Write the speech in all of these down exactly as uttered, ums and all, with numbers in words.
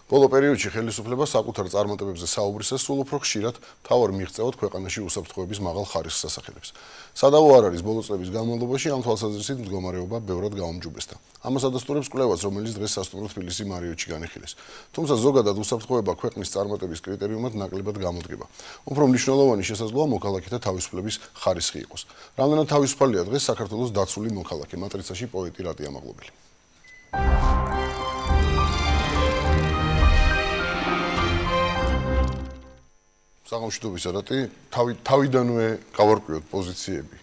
ბოლო პერიოდში ხელისუფლება საკუთარ წარმატებებზე საუბრისას სულ უფრო ხშირად მთავარ მიღწევად ქვეყანაში უსაფრთხოების მაღალ ხარისხს ასახელებს. სადავო არ არის ბოლო წლების განმავლობაში ამ თვალსაზრისით მდგომარეობა ბევრად გაუმჯობესდა. ამას ადასტურებს კვლევაც, რომელიც დღეს სასტუმრო თბილისი მარიოტში განიხილეს. თუმცა ზოგადად უსაფრთხოება ქვეყნის წარმატების კრიტერიუმად ნაკლებად გამოდგება. უფრო მნიშვნელოვანი შესაძლოა მოქალაქეთა თავისუფლების ხარისხი იყოს. რამდენად თავისუფალია დღეს საქართველოს დაცული მოქალაქე? მატრიცაში პოეტი რატია მაღლობელი. საგამშვიდობის არატი, თავი თავიდანვე გავარკვიოთ პოზიციები.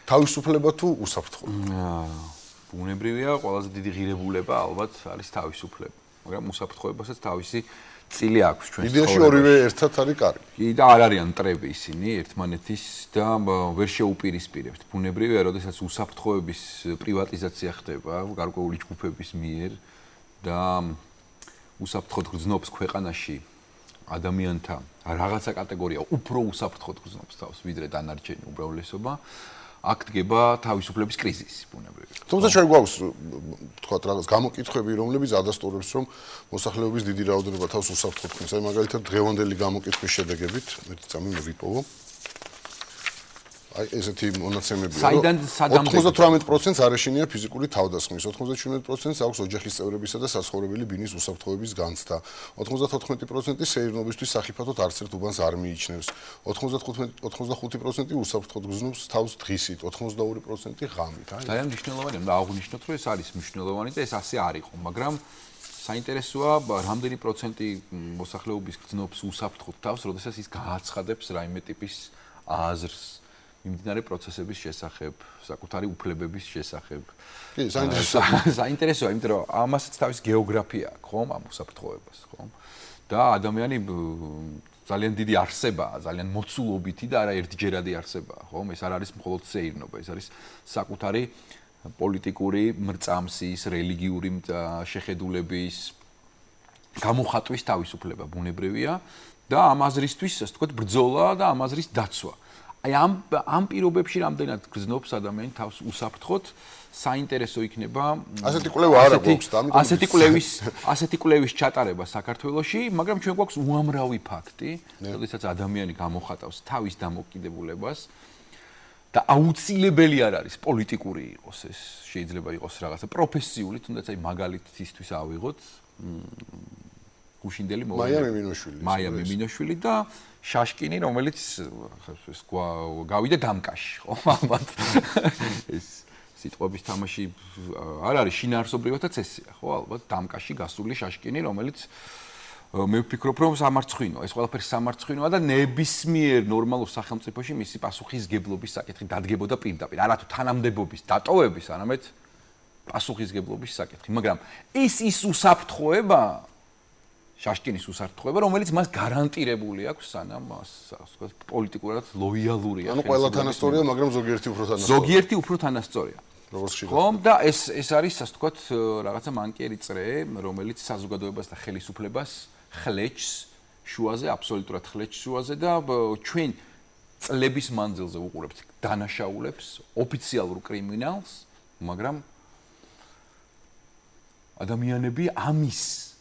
თავისუფლება თუ უსაფრთხოება? ბუნებრივია, ყველაზე დიდი ღირებულება ალბათ არის თავისუფლება. მაგრამ უსაფრთხოებასაც თავისი წილი აქვს ჩვენს ცხოვრებაში. იდეაში ორივე ერთად არის კარგი. კი და არ არიან მტრები ისინი ერთმანეთის და ვერ შეუპირისპირებთ. ბუნებრივია, როდესაც უსაფრთხოების პრივატიზაცია ხდება გარკვეული ჯგუფების მიერ და უსაფრთხოდ გრძნობს ქვეყანაში ადამიანთა რაღაცა კატეგორია უფრო უსაფრთხოდ გრძნობს თავს, ვიდრე დანარჩენი უმრავლესობა, აქ დგება თავისუფლების კრიზისი ბუნებრივია. თუმცა ჩვენ გვაქვს თქვათ რაღაც გამოკითხვები, რომლებიც ადასტურებს, რომ მოსახლეობის დიდი რაოდენობა თავს უსაფრთხოდ ქმნის. აი მაგალითად დღევანდელი გამოკითხვის შედეგებით, ერთი წამი მოვიპოვო. აი ესეთი მონაცემებია, რომ ოცდაოთხ პროცენტს არ ეშინია ფიზიკური თავდასხმის, ოცდაშვიდ პროცენტს აქვს ოჯახის წევრებისა და საცხოვრებელი ბინის უსაფრთხოების განცდა, ოცდათოთხმეტი პროცენტი სეირნობისთვის სახიფათოდ არც ერთ უბანს არ მიიჩნევს, ოცდახუთი პროცენტი უსაფრთხოდ გრძნობს თავს დღისით, ოცდაორი პროცენტი ღამით. ძალიან მნიშვნელოვანია, და აღვნიშნოთ, რომ ეს არის მნიშვნელოვანი და ეს ასე არ იყო, მაგრამ საინტერესოა, რამდენი პროცენტი მოსახლეობის გრძნობს უსაფრთხოდ თავს, როდესაც ის გააცხადებს რაიმე ტიპის აზრს მიმდინარე პროცესების შესახებ, საკუთარი უფლებების შესახებ. კი, საინტერესოა. საინტერესოა, იმიტომ რომ ამასაც თავის გეოგრაფია აქვს, ხომ, ამ უსაფრთხოებას, ხომ? და ადამიანი ძალიან დიდი არსებაა, ძალიან მოცულობითი და არა ერთჯერადი არსებაა, ხომ? ეს არ არის მხოლოდ სეირნობა, ეს არის საკუთარი პოლიტიკური მრწამსის, რელიგიური შეხედულების გამოხატვის თავისუფლება ბუნებრივია და ამ აზრისთვის, ასე ვთქვათ, ბრძოლა და ამ აზრის დაცვა. აი ამ ამ პირობებში რამდენად გრძნობს ადამიანი თავს უსაფრთხოდ, საინტერესო იქნება ასეთი კვლევა არა გვაქვს და ამიტომ ასეთი კვლევის ასეთი კვლევის ჩატარება საქართველოში, მაგრამ ჩვენ გვაქვს უამრავი ფაქტი, როდესაც ადამიანი გამოხატავს თავის დამოკიდებულებას და აუცილებელი არ არის პოლიტიკური იყოს ეს, შეიძლება იყოს რაღაცა პროფესიული, თუნდაც აი მაგალითისთვის ავიღოთ გუშინდელი მოვლენა მაია მიმინოშვილი მაია მიმინოშვილი და შაშკინი, რომელიც გავიდა დამკაში, ხო, ალბათ. ეს სიტყვების თამაში არ არის შინაარსობრივათა წესია, ხო, ალბათ დამკაში გასული შაშკინი, რომელიც მე ვფიქრობ, რომ სამარცხვინოა, ეს ყველაფერი სამარცხვინოა და ნებისმიერ ნორმალურ სახელმწიფოში მისი პასუხისგებლობის საკითხი დადგებოდა პირდაპირ, არა თუ თანამდებობის დატოვების, არამედ პასუხისგებლობის საკითხი, მაგრამ ეს ის უსაფრთხოება შაშკინის უსაფრთხოება, რომელიც მას გარანტირებული აქვს, სანამ ვთქვათ, პოლიტიკურად ლოიალურია. ანუ ყველა თანასწორია, მაგრამ ზოგიერთი უფრო თანასწორია. ზოგიერთი უფრო თანასწორია. როგორც შეიძლება. ხომ და ეს ეს არის, ასე ვთქვათ, რაღაცა მანკიერი წრე, რომელიც საზოგადოებას და ხელისუფლებას ხლეჭს შუაზე, აბსოლუტურად ხლეჭს შუაზე და ჩვენ წლების მანძილზე ვუყურებთ დანაშაულებს, ოფიციალურ კრიმინალს, მაგრამ ადამიანები ამის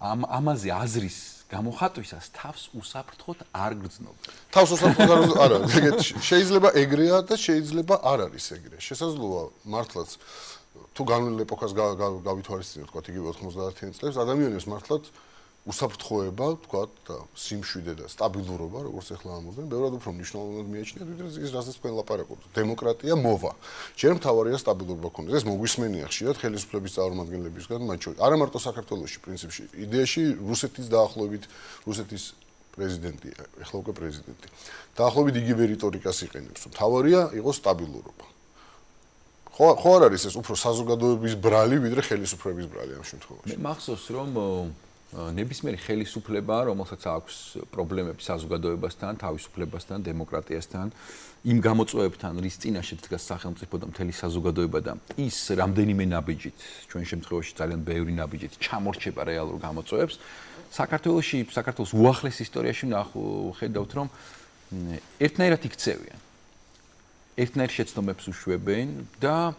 ამ ამაზე აზრის გამოხატვისას თავს უსაფრთხოდ არ გრძნობენ. თავს უსაფრთხოდ არა, შეიძლება ეგრეა და შეიძლება არ არის ეგრე. შესაძლოა მართლაც თუ განვლილ ეპოქას გავითვალისწინებთ, თქვათ იგივე ოცდაათიანი წლებს, ადამიანებს მართლაც უსაფრთხოება, თქვათ და სიმშვიდე და სტაბილურობა, როგორც ახლა ამბობენ, ბევრად უფრო მნიშვნელოვნად მიაჩნიათ, ვიდრე ის რასაც თქვენ ლაპარაკობთ. დემოკრატია მოვა. ჯერ მთავარია სტაბილურობა ქონდეს. ეს მოგვისმენია ხშირად ხელისუფლების წარმომადგენლებისგან, მათ შორის არა მარტო საქართველოში, პრინციპში, იდეაში რუსეთის დაახლოებით, რუსეთის პრეზიდენტი, ახლა უკვე პრეზიდენტი. დაახლოებით იგივე რიტორიკას იყენებს, რომ მთავარია იყოს სტაბილურობა. ხო, ხო არ არის ეს უფრო საზოგადოების ბრალი, ვიდრე ხელისუფლების ბრალი ამ შემთხვევაში. მე მახსოვს, რომ ნებისმიერი ხელისუფლება, რომელსაც აქვს პრობლემები საზოგადოებასთან, თავისუფლებასთან, დემოკრატიასთან, იმ გამოწვევებთან, რის წინაშე დგას სახელმწიფო და მთელი საზოგადოება და ის რამდენიმე ნაბიჯით, ჩვენ შემთხვევაში ძალიან ბევრი ნაბიჯით ჩამორჩება რეალურ გამოწვევებს, საქართველოში, საქართველოს უახლეს ისტორიაში ხედავთ, რომ ერთნაირად იქცევიან. ერთნაირ შეცდომებს უშვებენ და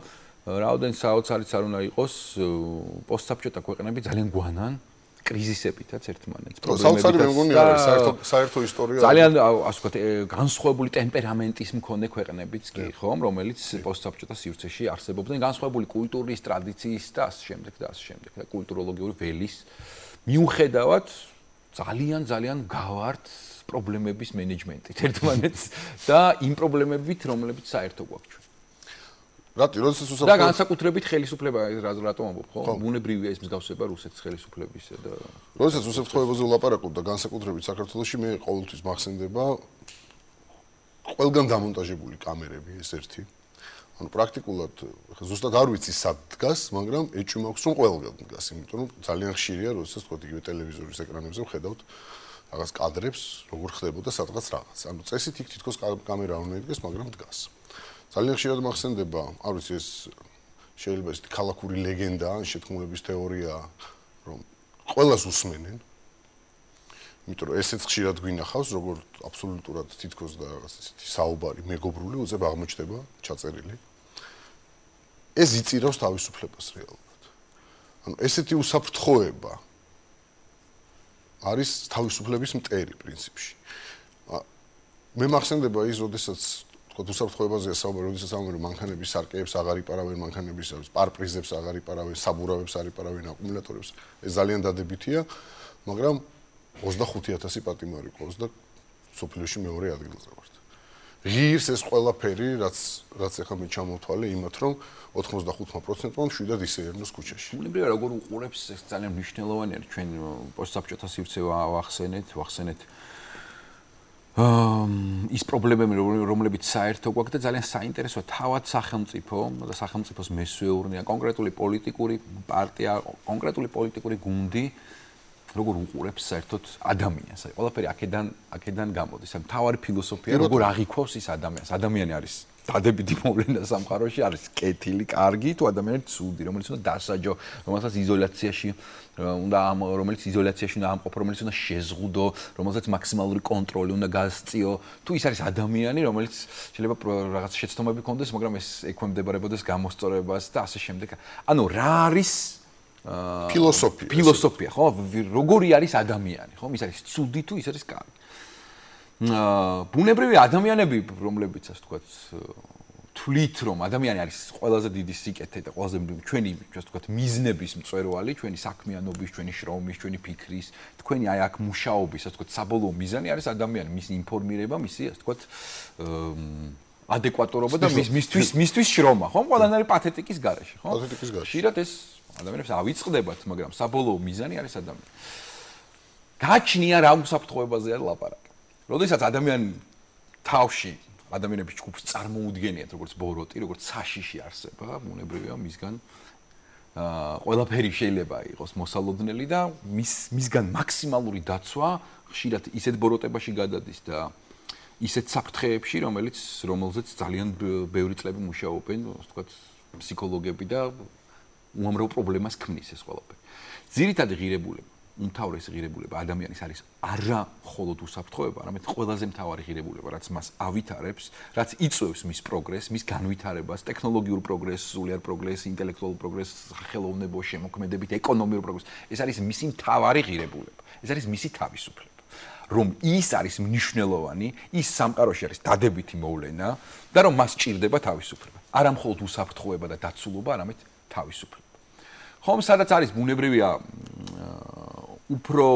რაოდენ საოცარიც არ უნდა იყოს, პოსტსაბჭოთა ქვეყნები ძალიან გვანან კრიზისებითაც ერთმანეთს პრობლემებითაც. მე მგონი არის საერთო საერთო ისტორია. ძალიან ასე ვთქვათ, განსხვავებული ტემპერამენტის მქონე ქვეყნებიც კი, ხომ, რომელიც პოსტსაბჭოთა სივრცეში არსებობდნენ, განსხვავებული კულტურის, ტრადიციის და ასე შემდეგ და ასე შემდეგ და კულტუროლოგიური ველის მიუხედავად ძალიან ძალიან გავართ პრობლემების მენეჯმენტით ერთმანეთს და იმ პრობლემებით, რომლებიც საერთო გვაქვს. რატი, როდესაც უსაფრთხო და განსაკუთრებით ხელისუფლება რატომ ამბობ, ხო? ბუნებრივია ის მსგავსება რუსეთის ხელისუფლებისა და როდესაც უსაფრთხოებაზე ვლაპარაკობ და განსაკუთრებით საქართველოში მე ყოველთვის მახსენდება ყველგან დამონტაჟებული კამერები ეს ერთი. ანუ პრაქტიკულად ზუსტად არ ვიცი სად დგას, მაგრამ ეჭვი მაქვს რომ ყველგან დგას, იმიტომ რომ ძალიან ხშირია როდესაც თქვა იგივე ტელევიზორის ეკრანებზე ვხედავთ რაღაც კადრებს, როგორ ხდებოდა სადღაც რაღაც. ანუ წესით იქ თითქოს კამერა უნდა იდგეს, მაგრამ დგას. ძალიან ხშირად მახსენდება, არ ვიცი ეს შეიძლება ეს ქალაქური ლეგენდა, შეთქმულების თეორია, რომ ყველას უსმენენ. იმიტომ რომ ესეც ხშირად გვინახავს, როგორ აბსოლუტურად თითქოს და რაღაც ისეთი საუბარი, მეგობრული უწებ აღმოჩნდება ჩაწერილი. ეს იწირავს თავისუფლებას რეალურად. ანუ ესეთი უსაფრთხოება არის თავისუფლების მტერი პრინციპში. მე მახსენდება ის, როდესაც თქო უსაფრთხოებაზეა საუბარი, როდესაც ამბობენ მანქანების სარკეებს აღარ იპარავენ, მანქანების პარპრიზებს აღარ იპარავენ, საბურავებს არ იპარავენ, აკუმულატორებს. ეს ძალიან დადებითია, მაგრამ ოცდახუთი ათასი პატიმარი ყავს და სოფლიოში მეორე ადგილზე ვართ. ღირს ეს ყველაფერი, რაც რაც ახლა მე ჩამოვთვალე იმათ, რომ ოთხმოცდახუთ პროცენტმა მშვიდად ისეერნოს ქუჩაში. ბუნებრივია როგორ უყურებს ეს ძალიან მნიშვნელოვანია ჩვენ პოსტსაბჭოთა სივრცე ვახსენეთ, ვახსენეთ ის პრობლემები რომლებიც საერთო გვაქვს და ძალიან საინტერესოა თავად სახელმწიფო და სახელმწიფოს მესვეურნეა კონკრეტული პოლიტიკური პარტია, კონკრეტული პოლიტიკური გუნდი როგორ უყურებს საერთოდ ადამიანს. აი ყველაფერი აქედან აქედან გამოდის. ამ თავარი ფილოსოფია როგორ აღიქვავს ის ადამიანს. ადამიანი არის დადებითი მოვლენა სამყაროში, არის კეთილი, კარგი, თუ ადამიანი ცუდი, რომელიც უნდა დასაჯო, რომელსაც იზოლაციაში უნდა ამ რომელიც იზოლაციაში უნდა ამყოფო, რომელიც უნდა შეზღუდო, რომელსაც მაქსიმალური კონტროლი უნდა გასწიო. თუ ის არის ადამიანი, რომელიც შეიძლება რაღაც შეცდომები ჰქონდეს, მაგრამ ეს ექვემდებარებოდეს გამოსწორებას და ასე შემდეგ. ანუ რა არის ფილოსოფია. ფილოსოფია, ხო? როგორი არის ადამიანი, ხო? ის არის ცუდი თუ ის არის კარგი. ბუნებრივი ადამიანები, რომლებიც ასე ვთქვათ, თვლით რომ ადამიანი არის ყველაზე დიდი სიკეთე და ყველაზე ჩვენი, ასე ვთქვათ, მიზნების მწვერვალი, ჩვენი საქმიანობის, ჩვენი შრომის, ჩვენი ფიქრის, თქვენი აი აქ მუშაობის, ასე ვთქვათ, საბოლოო მიზანი არის ადამიანი, მისი ინფორმირება, მისი, ასე ვთქვათ, ადეკვატურობა და მისთვის მისთვის შრომა, ხო? ყველანაირი პათეტიკის გარეშე, ხო? პათეტიკის გარეშე. ხშირად ეს ადამიანებს ავიწყდებათ, მაგრამ საბოლოო მიზანი არის ადამიანი. გაჩნია რა უსაფრთხოებაზეა ლაპარაკი. როდესაც ადამიანი თავში ადამიანების ჯგუფს წარმოუდგენიათ, როგორც ბოროტი, როგორც საშიში არსება, ბუნებრივია მისგან აა ყველაფერი შეიძლება იყოს მოსალოდნელი და მის მისგან მაქსიმალური დაცვა ხშირად ისეთ ბოროტებაში გადადის და ისეთ საფრთხეებში, რომელიც რომელზეც ძალიან ბევრი წლები მუშაობენ, ასე ვთქვათ, ფსიქოლოგები და უამრავ პრობლემას ქმნის ეს ყველაფერი. ძირითადი ღირებულება, უმთავრესი ღირებულება ადამიანის არის არა მხოლოდ უსაფრთხოება, არამედ ყველაზე მთავარი ღირებულება, რაც მას ავითარებს, რაც იწვევს მის პროგრესს, მის განვითარებას, ტექნოლოგიურ პროგრესს, სულიერ პროგრესს, ინტელექტუალურ პროგრესს, სახელოვნებო შემოქმედებით, ეკონომიურ პროგრესს. ეს არის მისი მთავარი ღირებულება. ეს არის მისი თავისუფლება. რომ ის არის მნიშვნელოვანი, ის სამყაროში არის დადებითი მოვლენა და რომ მას სჭირდება თავისუფლება. არა მხოლოდ უსაფრთხოება და დაცულობა, არამედ თავისუფლება. ხომ სადაც არის ბუნებრივია უფრო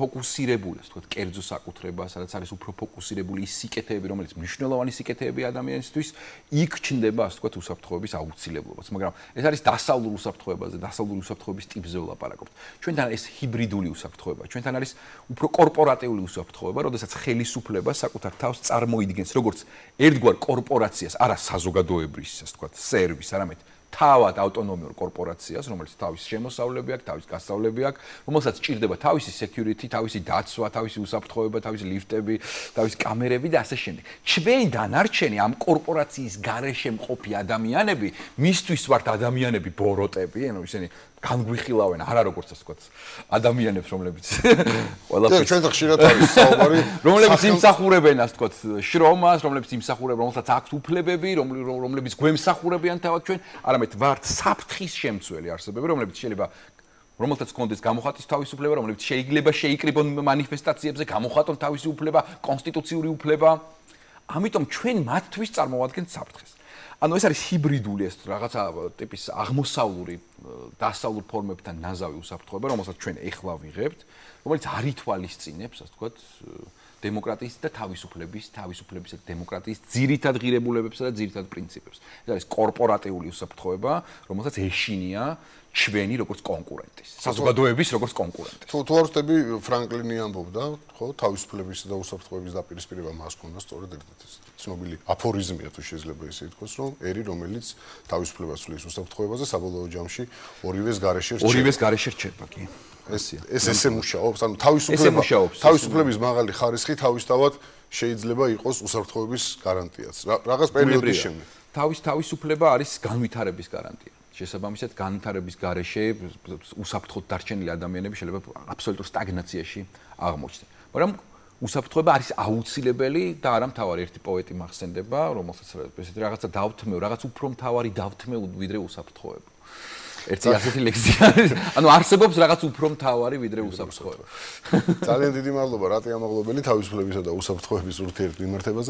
ფოკუსირებული, ასე ვთქვათ, კერძო საკუთრება, სადაც არის უფრო ფოკუსირებული ის სიკეთეები, რომელიც მნიშვნელოვანი სიკეთეებია ადამიანისთვის, იქ ჩნდება, ასე ვთქვათ, უსაფრთხოების აუცილებლობაც. მაგრამ ეს არის დასავლურ უსაფრთხოებაზე, დასავლური უსაფრთხოების ტიპზე ვლაპარაკობთ. ჩვენთან ეს ჰიბრიდული უსაფრთხოება, ჩვენთან არის უფრო კორპორატიული უსაფრთხოება, როდესაც ხელისუფლება საკუთარ თავს წარმოიდგენს როგორც ერთგვარ კორპორაციას, არა საზოგადოებრივ, ასე ვთქვათ, სერვისს, არამედ თავად ავტონომიურ კორპორაციას, რომელიც თავის შემოსავლები აქვს, თავის გასავლები აქვს, რომელსაც სჭირდება თავისი security, თავისი დაცვა, თავისი უსაფრთხოება, თავისი ლიფტები, თავისი კამერები და ასე შემდეგ. ჩვენ დანარჩენი ამ კორპორაციის გარეშე მყოფი ადამიანები, მისთვის ვართ ადამიანები ბოროტები, ანუ ისინი განგვიხილავენ, არა როგორც ასე ვთქვათ, ადამიანებს, რომლებიც ყველაფერს ჩვენ ხშირად არის საუბარი, რომლებიც იმსახურებენ, ასე ვთქვათ, შრომას, რომლებიც იმსახურებენ, რომელსაც აქვთ უფლებები, რომლებიც გვემსახურებიან თავად ჩვენ, არამედ ვართ საფრთხის შემცველი არსებები, რომლებიც შეიძლება რომელთაც კონდეს გამოხატვის თავისუფლება, რომლებიც შეიძლება შეიკრიბონ მანიფესტაციებზე, გამოხატონ თავისი უფლება, კონსტიტუციური უფლება. ამიტომ ჩვენ მათთვის წარმოვადგენთ საფრთხეს. ანუ ეს არის ჰიბრიდული ეს რაღაცა ტიპის აღმოსავლური დასავლურ ფორმებთან ნაზავი უსაფრთხოება, რომელსაც ჩვენ ეხლა ვიღებთ, რომელიც არ ითვალისწინებს, ასე ვთქვათ, დემოკრატიის და თავისუფლების, თავისუფლებისა და დემოკრატიის ძირითად ღირებულებებსა და ძირითად პრინციპებს. ეს არის კორპორატიული უსაფრთხოება, რომელსაც ეშინია ჩვენი როგორც კონკურენტის, საზოგადოების როგორც კონკურენტის. თუ თუ არ ვწდები ფრანკლინი ამბობდა, ხო, თავისუფლებისა და უსაფრთხოების დაპირისპირება მას ჰქონდა სწორედ ერთ-ერთი ცნობილი აფორიზმია თუ შეიძლება ისე ითქვას, რომ ერი რომელიც თავისუფლებას ცვლის უსაფრთხოებაზე საბოლოო ჯამში ორივეს გარეშე რჩება. ორივეს გარეშე რჩება, კი. ეს ეს ესე მუშაობს, ანუ თავისუფლება თავისუფლების მაღალი ხარისხი თავისთავად შეიძლება იყოს უსაფრთხოების გარანტიაც. რაღაც პერიოდის შემდეგ. თავის თავისუფლება არის განვითარების გარანტია. შესაბამისად, განვითარების გარეშე უსაფრთხოდ დარჩენილი ადამიანები შეიძლება აბსოლუტურ სტაგნაციაში აღმოჩნდნენ. მაგრამ უსაფრთხოება არის აუცილებელი და არა მთავარი. ერთი პოეტი მახსენდება, რომელსაც ესეთი რაღაცა დავთმევ, რაღაც უფრო მთავარი დავთმევ ვიდრე უსაფრთხოება. ერთი ასეთი ლექსია არის. ანუ არსებობს რაღაც უფრო მთავარი ვიდრე უსაფრთხოება. ძალიან დიდი მადლობა რატი ამაღლობელი თავისუფლებისა და უსაფრთხოების ურთიერთმიმართებაზე.